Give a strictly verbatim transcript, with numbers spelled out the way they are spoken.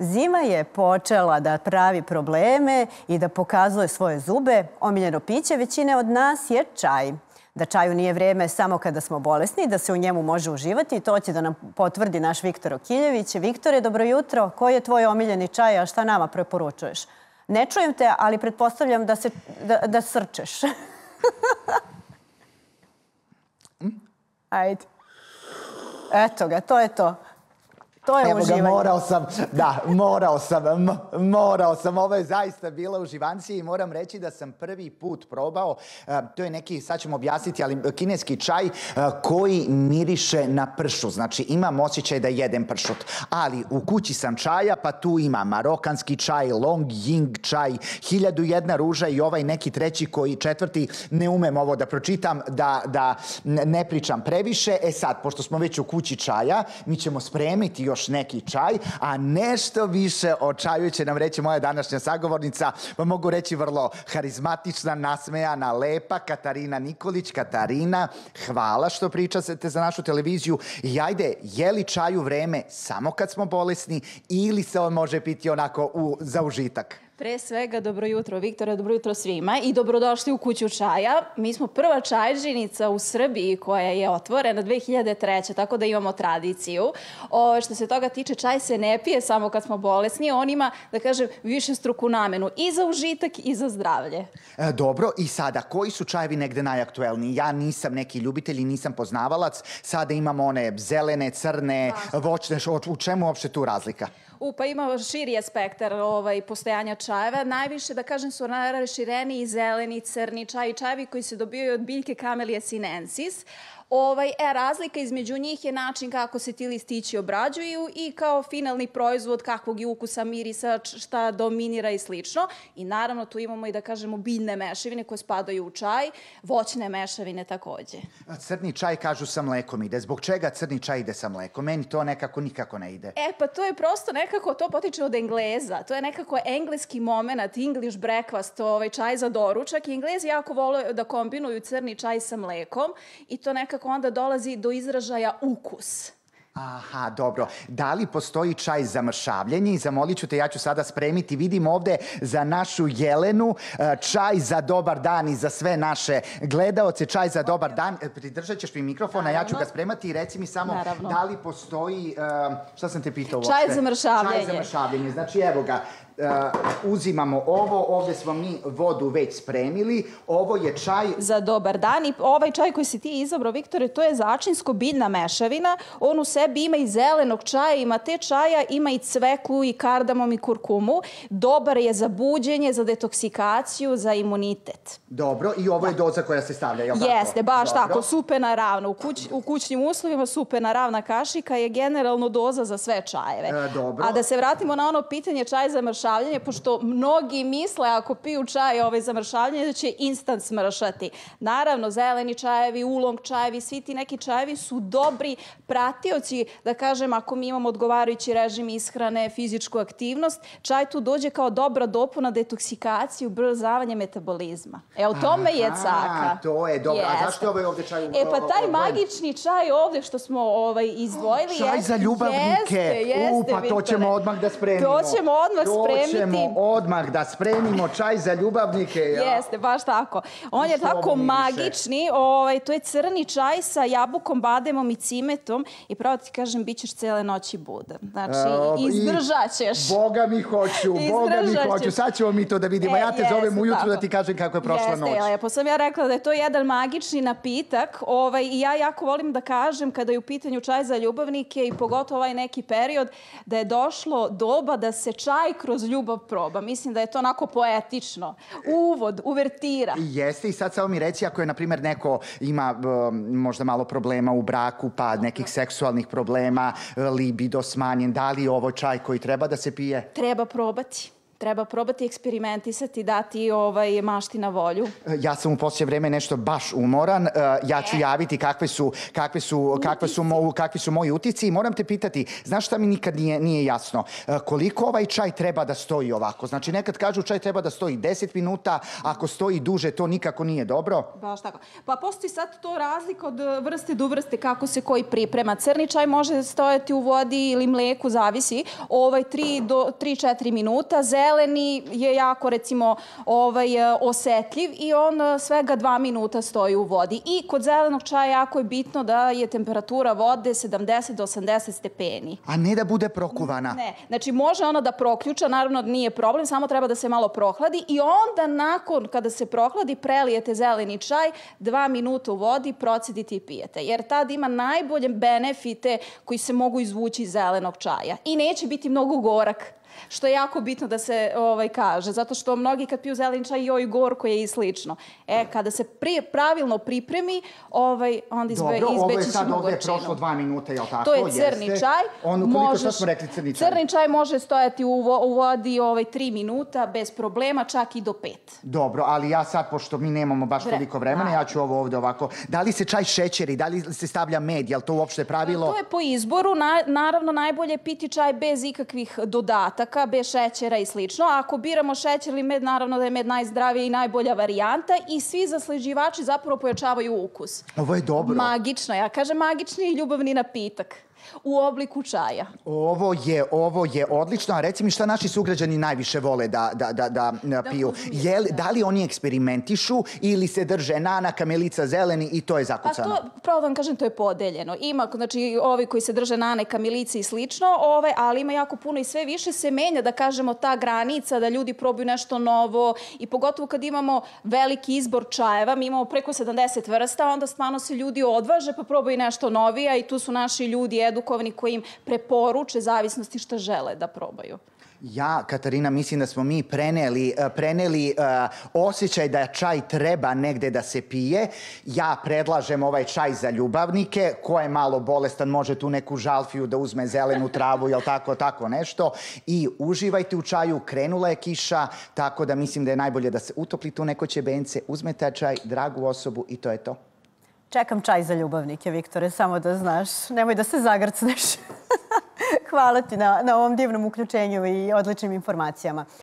Zima je počela da pravi probleme i da pokazuje svoje zube. Omiljeno piće većine od nas je čaj. Da čaju nije vrijeme samo kada smo bolesni, da se u njemu može uživati. To će da nam potvrdi naš Viktor Okiljević. Viktore, dobro jutro. Koji je tvoj omiljeni čaj, a šta nama preporučuješ? Ne čujem te, ali pretpostavljam da, se, da, da srčeš. Ajde. Eto ga, to je to. To je Evo uživanje. ga, morao sam, da, morao sam, m- morao sam. Ovo je zaista bila uživancija i moram reći da sam prvi put probao, uh, to je neki, sad ćemo objasniti, ali kineski čaj uh, koji miriše na pršu. Znači, imam osjećaj da jedem pršut. Ali u kući sam čaja, pa tu ima marokanski čaj, long ying čaj, hiljadu jedna ruža i ovaj neki treći koji četvrti, ne umem ovo da pročitam, da, da ne pričam previše. E sad, pošto smo već u kući čaja, mi ćemo spremiti još neki čaj, a nešto više o čaju će nam reći moja današnja sagovornica, pa mogu reći vrlo harizmatična, nasmejana, lepa Katarina Nikolić. Katarina, hvala što pričate za našu televiziju. I ajde, je li čaj u vreme samo kad smo bolesni ili se on može piti onako u, za užitak? Pre svega, dobro jutro, Viktore, dobro jutro svima i dobrodošli u kuću čaja. Mi smo prva čajžinica u Srbiji koja je otvorena dve hiljade treće. tako da imamo tradiciju. O, što se toga tiče, čaj se ne pije samo kad smo bolesni, on ima, da kažem, višestruku namenu i za užitak i za zdravlje. E, dobro, i sada, koji su čajevi negde najaktuelniji? Ja nisam neki ljubitelj i nisam poznavalac. Sada imamo one zelene, crne, voćne, u čemu uopšte tu razlika? U, pa ima širi je spektar ovaj, postojanja čajeva. Najviše, da kažem, su najrašireniji zeleni, crni čaj i čajevi koji se dobijaju od biljke Camellia sinensis. Ovaj, e, razlika između njih je način kako se ti listići obrađuju i kao finalni proizvod kakvog je ukusa, mirisa, šta dominira i slično. I naravno tu imamo i da kažemo biljne mešavine koje spadaju u čaj, voćne mešavine takođe. Crni čaj kažu sa mlekom ide. Zbog čega crni čaj ide sa mlekom? Meni to nekako nikako ne ide. E pa to je prosto nekako, to potiče od Engleza. To je nekako engleski moment, English breakfast, ovaj čaj za doručak. I Englezi jako vole da kombinuju crni čaj sa mlekom i to nekako onda dolazi do izražaja ukus. Aha, dobro. Da li postoji čaj za mršavljenje? I zamolit ću te, ja ću sada spremiti. Vidim ovde za našu Jelenu čaj za dobar dan i za sve naše gledaoce. Čaj za dobar dan. Pridržat ćeš mi mikrofon, a ja ću ga spremati i reci mi samo Naravno. Da li postoji... Uh, šta sam te pitao uopšte? Čaj za mršavljenje. Čaj za mršavljenje. Znači, evo ga. Uh, uzimamo ovo, ovdje smo mi vodu već spremili, ovo je čaj... Za dobar dan i ovaj čaj koji si ti izabrao, Viktore, to je začinsko-biljna mešavina. On u sebi ima i zelenog čaja, ima te čaja, ima i cveklu i kardamom i kurkumu. Dobar je za buđenje, za detoksikaciju, za imunitet. Dobro, i ovo je doza koja se stavlja, je li tako? Jeste, baš Dobro. tako, supena ravna. U, kuć, u kućnim uslovima supena ravna kašika je generalno doza za sve čajeve. E, dobro. A da se vratimo na ono pitanje čaj za mršavljenje, pošto mnogi misle ako piju čaj ovaj za mršavljenje da će instant smršati. Naravno, zeleni čajevi, ulong čajevi, svi ti neki čajevi su dobri pratioci, da kažem, ako mi imamo odgovarajući režim ishrane, fizičku aktivnost, čaj tu dođe kao dobra dopuna detoksikaciju, ubrzavanje metabolizma. E, u tome je caka. To je dobro. Jeste. A zašto je ovaj ovdje čaj? E, pa taj magični čaj ovdje što smo ovaj, izdvojili... Čaj jest, za ljubavnike. Jeste, jeste, U, pa to Viktore. ćemo odmah da spremimo. To ćemo odmah to spremiti. To ćemo odmah da spremimo čaj za ljubavnike. Ja. Jeste, baš tako. On je Što tako ovo miriše? magični. Ovaj, to je crni čaj sa jabukom, bademom i cimetom. I pravo ti kažem, bit ćeš cele noći budan. Znači, E, izdržat ćeš. Boga mi hoću, Boga mi Izdržat hoću. ćeš. Sad ćemo mi to da vidimo. E, ja te jeste, zovem ujutru tako. da ti kažem kako je prošla Jeste, noć. lepo sam ja rekla da je to jedan magični napitak. Ovaj, I ja jako volim da kažem kada je u pitanju čaj za ljubavnike i pogotovo ovaj neki period da je došlo doba da se čaj kroz ljubav proba. Mislim da je to onako poetično. Uvod, uvertira. Jeste, i sad samo mi reci ako je, na primjer, neko ima um, možda malo problema u braku, pa nekih seksualnih problema, libido smanjen, da li je ovo čaj koji treba da se pije? Treba probati. Treba probati eksperimentisati, dati ovaj, mašti na volju. Ja sam u poslije vreme nešto baš umoran. Ja ću javiti kakve su, kakve su, kakve su, mo, kakvi su moji utisci i moram te pitati, znaš šta mi nikad nije, nije jasno? Koliko ovaj čaj treba da stoji ovako? Znači nekad kažu čaj treba da stoji deset minuta, ako stoji duže to nikako nije dobro. Baš tako. Pa postoji sad to razlika od vrste do vrste kako se koji priprema. Crni čaj može stojati u vodi ili mleku, zavisi, ovaj tri do četiri minuta. Zeleni je jako, recimo, ovaj, osetljiv i on svega dva minuta stoji u vodi. I kod zelenog čaja jako je bitno da je temperatura vode sedamdeset do osamdeset stepeni. A ne da bude prokuvana? Ne. Znači, može ona da proključa, naravno nije problem, samo treba da se malo prohladi i onda nakon kada se prohladi prelijete zeleni čaj, dva minuta u vodi, procedite i pijete. Jer tad ima najbolje benefite koji se mogu izvući iz zelenog čaja. I neće biti mnogo gorak. Što je jako bitno da se ovaj, kaže, zato što mnogi kad piju zeleni čaj joj gorko je i slično. E, kada se pri, pravilno pripremi, ovaj, onda izbe, izbeći ćemo gorčinu. Dobro, ovo je sad ovdje prošlo dva minuta, jel tako? To je crni Jeste. čaj. On, koliko možeš, šta smo rekli crni čaj? Crni čaj može stojati u, vo, u vodi ovaj, tri minuta bez problema, čak i do pet. Dobro, ali ja sad, pošto mi nemamo baš Vre, toliko vremena, da. ja ću ovo ovdje ovako. Da li se čaj šećeri, da li se stavlja med, je li to uopšte pravilo? To je po izboru. Na, naravno, najbolje je piti čaj bez ikakvih dodataka, bez šećera i slično. A ako biramo šećer ili med, naravno da je med najzdravija i najbolja varijanta i svi zasleđivači zapravo pojačavaju ukus. Ovo je dobro. Magično. Ja kažem magični i ljubavni napitak u obliku čaja. Ovo je, ovo je odlično. A reci mi šta naši sugrađani najviše vole da, da, da, da, da piju. Je li, da li oni eksperimentišu ili se drže nana, kamilica, zeleni i to je zakucano? Pa to, pravo da vam kažem, to je podeljeno. Ima, znači, ovi koji se drže nane, kamilice i slično, ove, ali ima jako puno i sve više se menja, da kažemo, ta granica, da ljudi probaju nešto novo i pogotovo kad imamo veliki izbor čajeva, mi imamo preko sedamdeset vrsta, onda stvarno se ljudi odvaže pa probaju nešto novija i tu su naši ljudi edukovani koji im preporuče zavisnosti šta žele da probaju. Ja, Katarina, mislim da smo mi preneli, preneli uh, osjećaj da čaj treba negde da se pije. Ja predlažem ovaj čaj za ljubavnike. Ko je malo bolestan može tu neku žalfiju da uzme zelenu travu, jel tako, tako nešto. I uživajte u čaju, krenula je kiša, tako da mislim da je najbolje da se utoplite u neko ćebence, uzmete čaj, dragu osobu i to je to. Čekam čaj za ljubavnike, Viktore, samo da znaš. Nemoj da se zagrcneš. Hvala ti na, na ovom divnom uključenju i odličnim informacijama.